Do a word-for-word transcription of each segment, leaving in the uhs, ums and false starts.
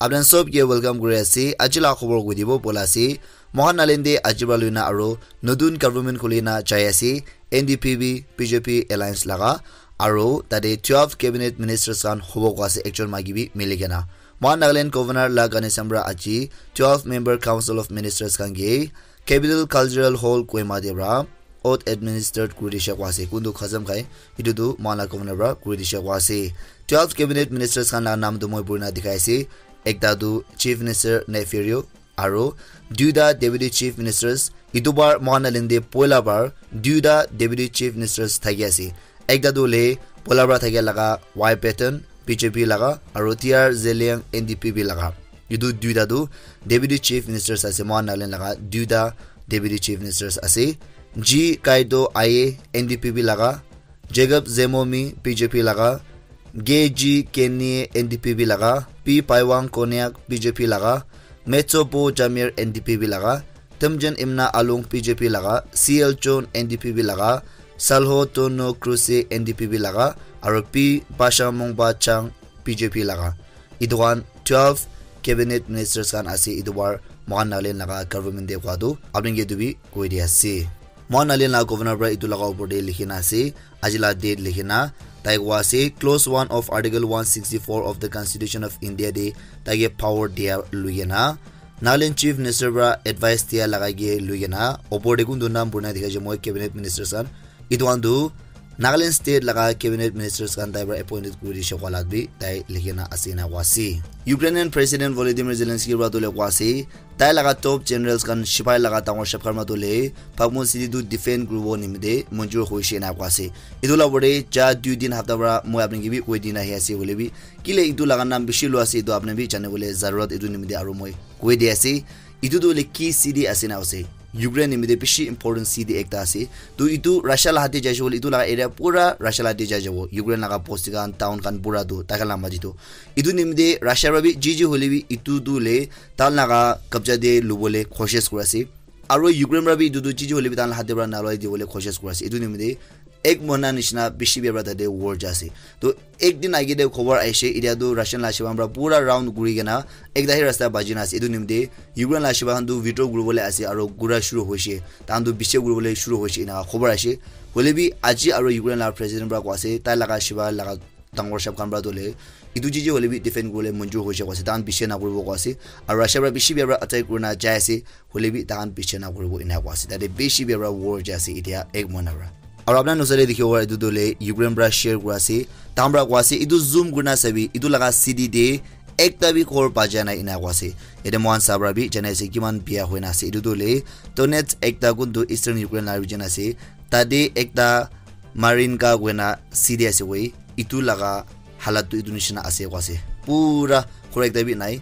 Apni khan sob ke welcome kuri ase. Aji la khobor koi dibo bola ase. Mohan Nagaland te aji pra loina aro notun government khuli na jai ase. N D P B, B J P alliance laga aro tate twelve cabinet ministers khan hobo koi ase ekjon maki bi mili kena. Mohan Nagaland governor la Ganesan pra aji twelve member council of ministers khan ke Capital Cultural Hall Kohima te pra oath administered kuri dishe koi ase. Kuntu khasam khai, etu tu mohan la governor pra kuri dishe koi ase. Twelve cabinet ministers khan la naam tu moi purina dikhai ase. Ekta tu Chief Minister Neiphiu Rio, aro duita deputy chief ministers. Etu bar mohan Nagaland te poila bar duita deputy chief ministers thaki ase. Ekta tu le poila bara thakia laga Y Patton B J P laga aro T R Zeliang N D P B laga. Etu duita tu deputy chief ministers ase mohan Nagaland laga duita deputy chief ministers ase. G Kaito Aye N D P B laga, Jacob Zemomi B J P laga, G G Kenny N D P B laga, P Paiwang Konyak B J P laga, Metsopo Jamir N D P B laga, Temjen Imna Alung B J P laga, C L John N D P B laga, Salho Tono Cruise N D P B laga, aro P Basha Mongba Chang B J P laga. Etu khan twelve cabinet ministers khan ase, etu bar mohan Nagaland laga government te koi tu apni ke etu bi koi di ase. Mohan Nagaland laga governor para etu laga upor te likhi na ase, aji la date likhi na, tai koi ase, clause one of Article one sixty-four of the Constitution of India te tai ke power dia lui kena, Nagaland Chief Minister para advice dia laga ke lui kena, upor te kuntu naam purina dikha je moi cabinet ministers khan, etu khan tu Nagaland state laga cabinet ministers khan tai para appointed kuri dishe koi la bi tai likhi na ase na koi ase. Ukrainian President Volodymyr Zelensky para tu le koi ase, tai laga top generals khan, sipai laga dangor sab khan para tu le Bakhmut city tu defend kuribo nimite manjur hoishe na koi ase. Etu la upor te ja dui din hafta para moi apni ke bi koi dina ahi ase hoile bi, kile etu laga naam bishi lua ase, etu apni bi jane bole zarurat etu nimite aro moi koi di ase. Etu tu hoile ki city ase na ase? Ukraine nimite bishi important city ekta ase. To etu Russia la hate jai jabo le, etu laga area pura Russia la hate jai jabo. Ukraine laga bosti khan, town khan pura tu, tai khan la maji tu. Etu nimite Russia para bi ji ji hoile bi etu tu le tai laga kabja te lubole koshish kuri ase. Aro Ukraine para bi etu tu ji ji hoile bi tai la hate para nalai dibole koshish kuri ase. Etu nimite ek mohina nishina bishi bia para tate war jai ase. To ek din age te khobor ahishe, etia tu Russian la sipai khan para pura round kuri kena ekta hi rasta baji na ase. Etu nimite Ukraine la sipai khan tu withdraw kuribole ase aro kura shuru hoishe. Tai khan tu bishi kuribole shuru hoishe ena khobor ahishe. Hoile bi aji aro Ukraine la president para koi ase, tai laga sipai laga dangor sab khan para tu le etu ji ji hoile bi defend kuribole manjur hoishe koi ase. Tai khan bishi na kuribo koi ase. Aro Russia para bishi bia para attack kurina jai ase. Hoile bi tai khan bishi na kuribo ena koi ase. Tate bishi bia para war jai ase etia ek mohina para. Aro apni khan noksa te dikhibo para etu tu le Ukraine para share kuri ase. Tai khan para koi ase, etu zoom kurina sabi, etu laga city te ekta bi ghor baja nai ena koi ase. Yate moikhan sa para bi janai ase kiman bia hoina ase. Etu tu le Donetsk ekta kuntu Eastern Ukraine la region ase. Tate ekta Marinka koina city ase koi. Etu laga halat tu etu nishina ase koi ase. Pura ghor ekta bi nai.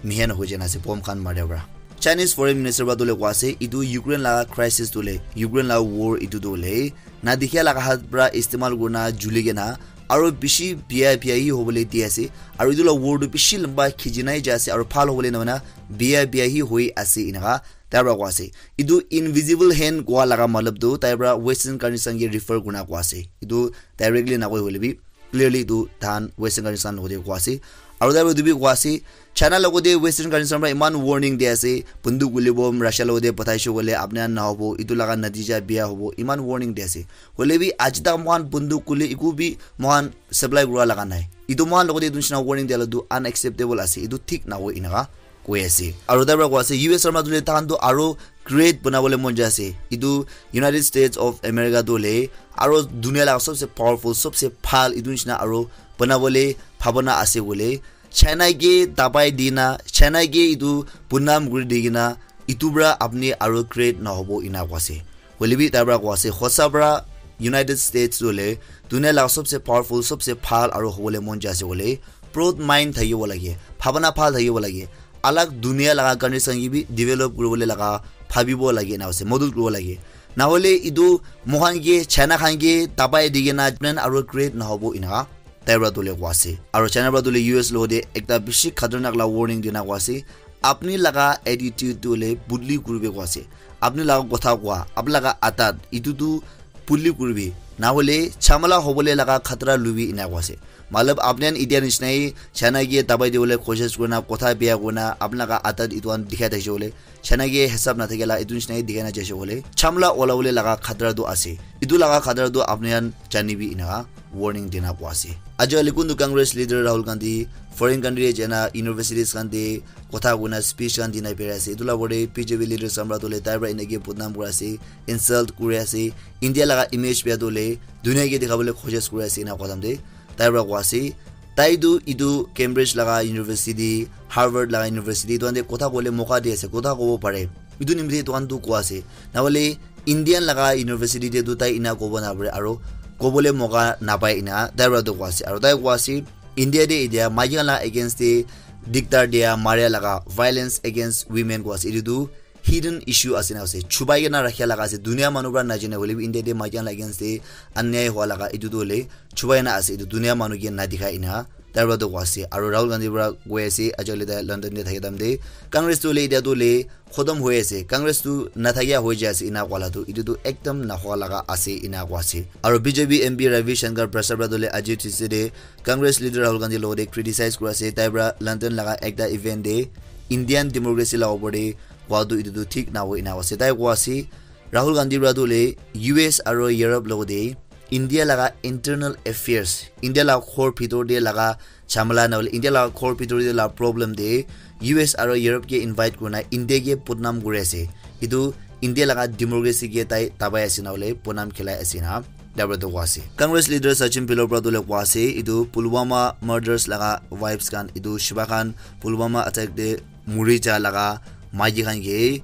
Mihen hoi jana ase bomb khan maria para. Chinese Foreign Minister para tu le koi ase, etu Ukraine la crisis tu le, Ukraine la war etu tu le, na dikhia laga hat para istemal kurina juli kena, aro bishi bia bia hi hobole di ase, aro etu la war tu bishi lamba khiji nai jai ase, aro bhal hobole na hoina bia bia hi hoi ase enaka tai para koi ase. Etu invisible hand koi laga matlab tu tai para Western countries khan ke refer kurina koi ase. Etu directly na koi hoile bi clearly etu tai khan Western countries khan logote koi ase. Aro tai para etu bi koi ase, China logote Western countries khan para eman warning di ase, bunduk gulibo Russia logote pathaishe koile apni khan nahobo, etu laga natija bia hobo, eman warning di ase. Hoile bi aji tak moikhan bunduk guli eku bi moikhan supply kura laga nai. Etu moikhan logote etu nishina warning dia la tu unacceptable ase, etu thik nahoi enaka koi ase. Aro tai para koi ase, U S khan para tu le tai khan tu aro great banabole mon jai ase. Etu United States of America tu le aro dunia laga sobse powerful, sobse bhal etu nishina aro banabole bhabana ase koile, China ke dabai dina, China ke etu bunam kuri di kena, etu para apni aro great nahobo ena koi ase. Hoile bi tai para koi ase, hosa para United States tu le dunia laga sobse powerful, sobse bhal aro hobole mon jai ase koile, broad mind thakibo lage, bhabana bhal thakibo lage, alag dunia laga countries khan ke bi develop kuribole laga bhabibo lage ena ase, modot kuribo lage. Nahole etu moikhan ke China khan ke dabai di kena plan aro great nahobo enaka tai para tu le koi ase. Aro China para tu le U S logote ekta bishi khatarnak la warning dina koi ase. Apni laga attitude tu le budli kuribe koi ase. Apni laga kotha koa, apni laga adat, etu tu budli kuribe. Nahole chamala hobole laga khatara lubi ena koi ase. Matlab, apni khan etia nishina hi China ke dabai dibole koshish kurina, kotha bia kurina, apni laga adat etu khan dikhai thakishe bole, China ke hisab nathakila etu nishina hi dikhai na jaishe bole, chamla olabole laga khatara tu ase. Etu laga khatara tu apni khan janibi, enaka warning dina koa ase. Ajikali kuntu Congress leader Rahul Gandhi foreign country te jaina universities khan te kotha kurina speech khan dina birai ase. Etu la opor te B J P leaders khan para tu hoile tai para enake badnam kuri ase, insult kuri ase, India laga image bia tu hoile dunia ke dikhabole koshish kuri ase, ena kotha te tai para koa ase. Tai tu etu Cambridge laga university, Harvard laga university, etu khan te kotha kobole moka di ase, kotha kobo pare. Etu nimite etu khan tu koa ase. Nahole Indian laga university te tu tai ena kobo napare, aro kobole moka napai, ena tai para tu koa ase. Aro tai koa ase, India te etia maiki khan laga against te diktar dia, maria laga, violence against women koa ase. Etu tu hidden issue ase na ase. Chubai kena rakhia laga ase. Dunia manu para najane hoile bi India te maiki khan laga against te anyai hua laga etu tu hoile chubai na ase. Etu dunia manu ke na dikhai, ena tai para tu koa ase. Aro Rahul Gandhi para koi ase, ajikali tai London te thaki time te Congress tu hoile etia tu hoile khotom hoi ase. Congress tu nathakia hoi jai ase, ena koa la tu etu tu ekdam nahua laga ase, ena koa ase. Aro B J P M P Ravi Shankar Prasad para tu hoile aji Tuesday te Congress leader Rahul Gandhi logote criticize kuri ase. Tai para London laga ekta event te Indian democracy laga opor te koa tu etu tu thik nahoi, ena koa ase. Tai koa ase, Rahul Gandhi para tu hoile U S aro Europe logote India laga internal affairs, India laga ghor bhitor te laga jhamala nahole India laga ghor bhitor te laga problem te U S aro Europe ke invite kurina India ke badnam kuri ase. Etu India laga democracy ke tai dabai ase nahole badnam khilai ase, ena tai para tu koa ase. Congress leader Sachin Pilot para tu hoile koa ase, etu Pulwama murders laga vibes khan, etu Shiva Khan Pulwama attack te muri ja laga maiki khan ke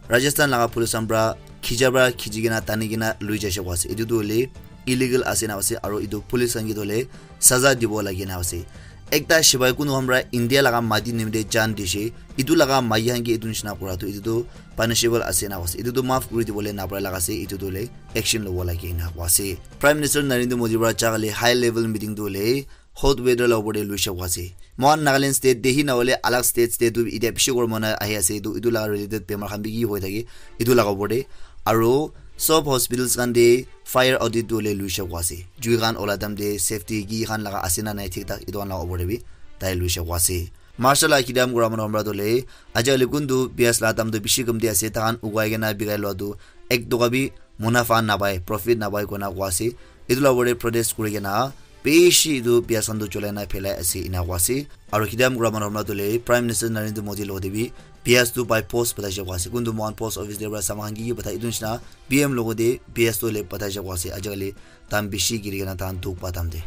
Rajasthan laga police khan para khicha para khichi kena tani kena lui jaishe koa ase. Etu tu hoile illegal ase na ase, aro etu police khan ke tu hoile saza dibo lage na ase. Ekta shipai kunu khan para India laga mati nimite jan dishe, etu laga maiki khan ke etu nishina kura tu etu tu punishable ase na ase. Etu tu maaf kuri dibole napara laga ase, etu tu hoile action lobo lage na koa ase. Prime Minister Narendra Modi para jakali high level meeting tu hoile hot weather la opor te luishe koa ase. Mohan Nagaland state te hi nahole alag states te tu etia bishi gormo na ahi ase, etu, etu laga related bemar khan bi ki hoi thake, etu laga opor te. Aro sob hospitals khan te fire audit tu hoile luishe koa ase. Jui khan ola time te safety ki khan laga ase na nai thik thak, etu khan laga opor te bi tai luishe koa ase. Marshall la kidam kura manu khan para tu hoile, ajikali kuntu pias la dam tu bishi kamti ase, tahan ugai kena bikai lua tu ek toka bi munafaa napai, profit napai koina koa ase. Etu la opor te protest kuri kena bishi etu pias khan tu cholai na phelai ase, ena koa ase. Aro kidam kura manu khan para tu hoile Prime Minister Narendra Modi logote bi pias tu by post pathaishe koa ase. Kuntu mohan post office te para saman khan ki ki pathai, etu nishina P M logote pias tu hoile pathaishe koa ase. Ajikali dam bishi giri kena tahan dukh pa dam te.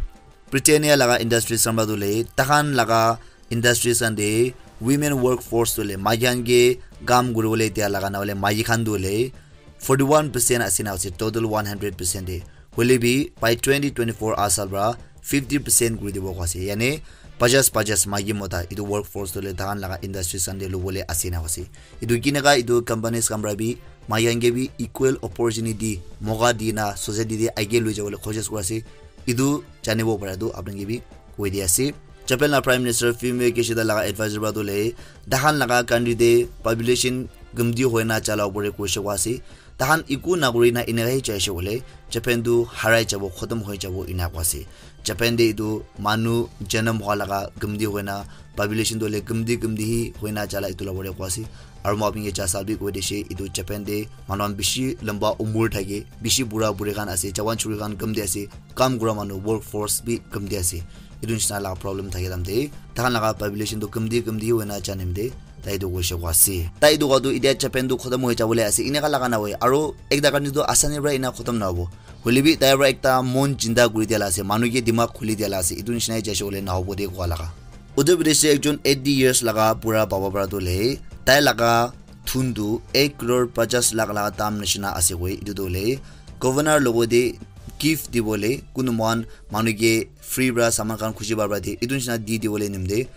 Britannia laga industries khan para tu hoile, tahan laga industries khan te women workforce tu hoile, maiki khan ke kam kuribole dia laga nahole maiki khan tu hoile forty one percent ase na ase, total one hundred percent te. Hoile bi by twenty twenty-four aha saal para fifty percent kuri dibo koa ase. Yane pajas pajas maiki mota etu workforce tu hoile tahan laga industries khan te lobole ase na ase. Etu kineka etu companies khan para bi maiki khan ke bi equal opportunity moka di na society te age lui jabole koshish kuri ase. Etu janibo para tu apni khan ke bi koi di ase. Japan la Prime Minister Fumio Kishida laga advisor para tu hoile, tahan laga country te population kamti hoina jala opor te koishe koa ase. Tahan eku nakuri na eneka hi jaishe koile, Japan tu harai jabo, khotom hoi jabo, ena koa ase. Japan te etu manu janam hua laga kamti hoina, population tu hoile kamti kamti hi hoina jala etu la opor te koa ase. Aro moi apni ke ja saal bi koi dishe, etu Japan te manu khan bishi lamba umur thake, bishi bura buri khan ase, jawan churi khan kamti ase, kam kura manu workforce bi kamti ase. Etu nishina laga problem thake time te, tahan laga population tu kamti kamti hoina janam te, tai etu koishe koa ase. Tai etu koa tu etia Japan tu khotom hoi jabole ase, eneka laga nahoi. Aro ekta karne tu asani para ena khotom nahobo. Hoile bi tai para ekta mon chinta kuri dia la ase, manu ke dimag khuli dia la ase, etu nishina hi jaishe koile nahobo de koa laga. Uttar Pradesh te ekjon eighty years laga bura baba para tu hoile, tai laga thun tu ek crore pajas lakh laga dam nishina ase koi. Etu tu hoile governor logote gift dibole, kunu mohan manu ke free para saman khan khuji para de, etu nishina di dibole nimite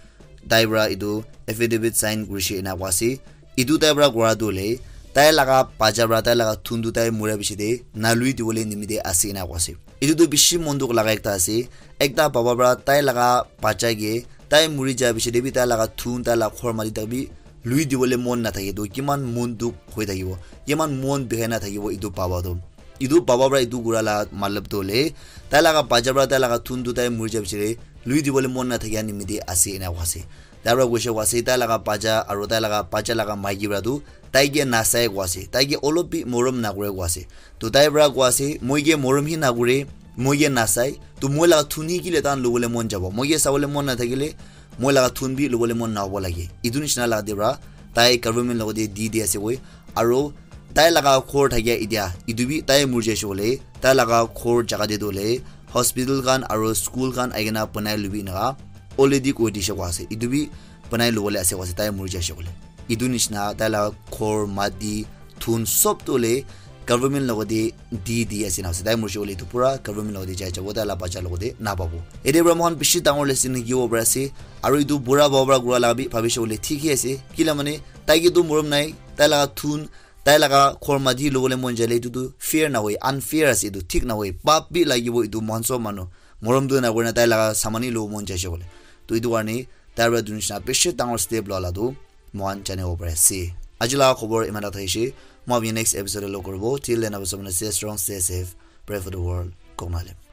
tai para etu affidavit sign kurishe ena koa ase. Etu tai para kura tu hoile, tai laga bacha para tai laga thun tu tai mura piche te nalui dibole nimite ase ena koa ase. Etu tu bishi mon dukh laga ekta ase. Ekta baba para tai laga bacha ke tai muri ja piche te bi tai laga thun, tai laga ghor mati tak bi lui dibole mon nathake tu kiman mon dukh hoi thakibo, kiman mon bikhai na thakibo etu baba tu. Etu baba para etu kura la matlab tu hoile, tai laga bacha para tai laga thun tu tai muri ja piche te lui dibole mon nathakia nimite ase ena koa ase. Tai para koise koa ase, tai laga bacha aru tai laga bacha laga maiki para tu tai ke nasai koa ase, tai ke olop bi morom nakore koa ase. To tai para koa ase, moi ke morom hi nakore, moi ke nasai, to moi laga thun hi kile tan lobole mon jabo, moi ke sabole mon nathakile moi laga thun bi lobole mon nahabo lage. Etu nishina laga te para tai government logote di di ase koi, aru tai laga ghor thakia etia etu bi tai murjai shey koile tai laga ghor jaga te tu hoile hospital khan aru school khan aikena banai lobi eneka already koi dishe koa ase. Etu bi banai lobole ase koa ase tai murjai shey koile. Etu nishina tai laga ghor, mati, thun sob tu hoile government logote di di ase na ase. Tai murjai shey koile etu pura government logote jai jabo, tai laga bacha logote napabo. Ete para moikhan bishi dangor lesson hikibo pari ase. Aru etu bura baba para kura laga bi bhabishe koile thik hi ase. Kila mane tai ke tu morom nai, tai laga thun, tai laga ghor mati lobole mon jale etu tu fair nahoi, unfair ase, etu thik nahoi, pap bi lagibo etu moikhan sob manu. Morom tu nakorina tai laga saman hi lobo mon jaise koile. To etu karne tai para etu nishina bishi dangor step loa la tu moikhan janibo pari ase. Aji laga khobor iman ta thakishi, moi apni next episode te log koribo. Till then, apni sob manu stay strong, stay safe, pray for the world. Kok Mahalem.